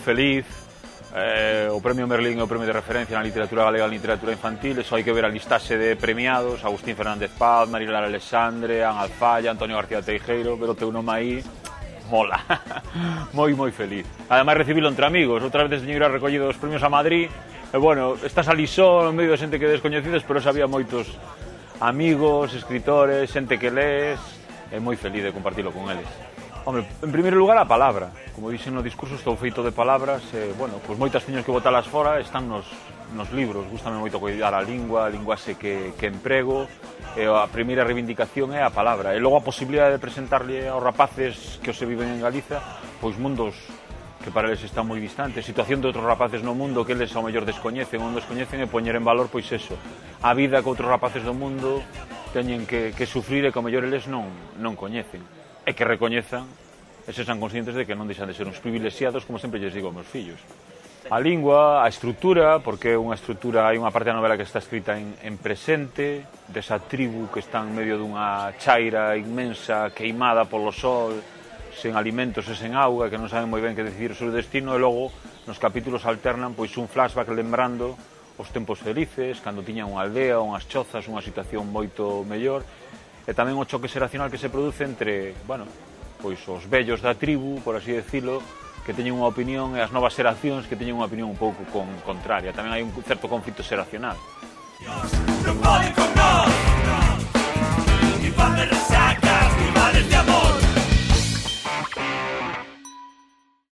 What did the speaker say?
feliz. O Premio Merlín é o premio de referencia na literatura galega e literatura infantil, e só hai que ver a listaxe de premiados: Agustín Fernández Paz, Marilar Alexandre, Ana Alfaya, Antonio García Teijeiro. Ver o teu nome aí mola. Moi feliz. Ademais, recibilo entre amigos. Outra vez teño ir a recollido os premios a Madrid, e bueno, estás ali só no medio de xente que descoñecides, pero sabía moitos amigos, escritores, xente que lees, e moi feliz de compartilo con eles. Hombre, en primeiro lugar, a palabra. Como dixen no discurso, estou feito de palabras, e, bueno, pois moitas teño que botalas fora, están nos libros. Gústame moito cuidar a linguaxe que emprego, e a primeira reivindicación é a palabra. E logo a posibilidade de presentarlle aos rapaces que se viven en Galiza, pois mundos que para eles están moi distantes, situación de outros rapaces no mundo que eles ao mellor descoñecen ou non descoñecen, e poñer en valor, pois eso, a vida que outros rapaces do mundo teñen que sufrir e que ao mellor eles non coñecen. E que recoñezan e se sean conscientes de que non deixan de ser uns privilexiados, como sempre lles digo aos meus fillos. A lingua, a estrutura, porque unha estrutura, hai unha parte da novela que está escrita en presente, desa tribu que está en medio dunha chaira inmensa, queimada polo sol, sen alimentos e sen auga, que non saben moi ben que decidir o seu destino, e logo nos capítulos alternan pois un flashback lembrando os tempos felices, cando tiñan unha aldea, unhas chozas, unha situación moito mellor, e tamén o choque xeracional que se produce entre, bueno, pois os vellos da tribu, por así decirlo, que teñen unha opinión, e as novas xeracións que teñen unha opinión un pouco contraria. Tamén hai un certo conflito xeracional.